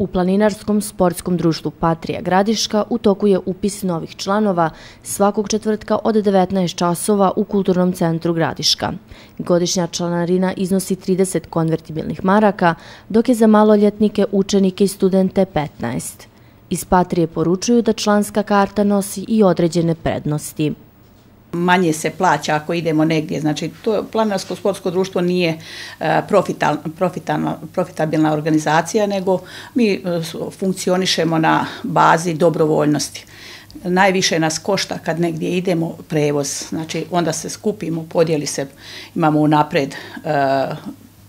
U Planinarskom sportskom društvu Patrija Gradiška u toku je upis novih članova svakog četvrtka od 19 časova u Kulturnom centru Gradiška. Godišnja članarina iznosi 30 konvertibilnih maraka, dok je za maloljetnike, učenike i studente 15. Iz Patrije poručuju da članska karta nosi i određene prednosti. Manje se plaća ako idemo negdje, znači to Planinarsko sportsko društvo nije profitabilna organizacija, nego mi funkcionišemo na bazi dobrovoljnosti. Najviše nas košta kad negdje idemo prevoz, znači onda se skupimo, podijeli se, imamo unaprijed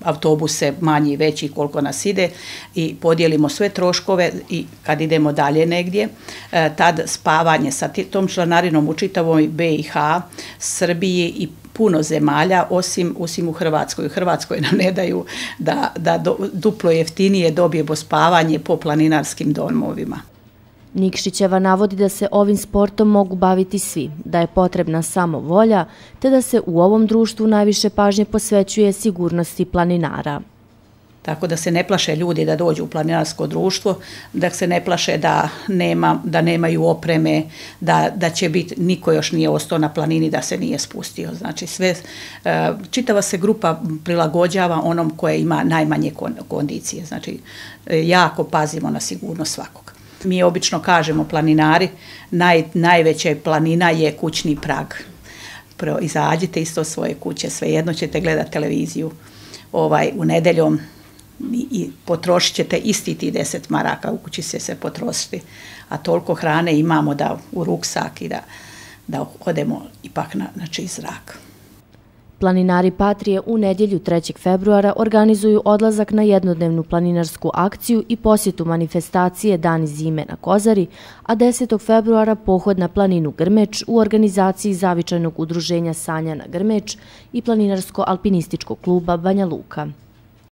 autobuse manji, veći, koliko nas ide i podijelimo sve troškove i kad idemo dalje negdje, tad spavanje sa tom članarinom u čitavoj BiH, Srbiji i puno zemalja, osim u Hrvatskoj. U Hrvatskoj nam ne daju da duplo jeftinije dobijemo spavanje po planinarskim domovima. Nikšićeva navodi da se ovim sportom mogu baviti svi, da je potrebna samo volja, te da se u ovom društvu najviše pažnje posvećuje sigurnosti planinara. Tako da se ne plaše ljudi da dođu u planinarsko društvo, da se ne plaše da nemaju opreme, da će biti, niko još nije ostao na planini da se nije spustio. Znači čitava se grupa prilagođava onom koje ima najmanje kondicije. Znači jako pazimo na sigurnost svakog. Mi obično kažemo planinari, najveća planina je kućni prag. Izađite iz svoje kuće, svejedno ćete gledati televiziju u nedjeljom i potrošit ćete isti ti 10 maraka, u kući će se potrošiti, a toliko hrane imamo da u ruksak i da odemo ipak na čist zrak. Planinari Patrije u nedjelju 3. februara organizuju odlazak na jednodnevnu planinarsku akciju i posjetu manifestacije Dani zime na Kozari, a 10. februara pohod na planinu Grmeč u organizaciji Zavičajnog udruženja Sanja na Grmeč i Planinarsko-alpinističkog kluba Banja Luka.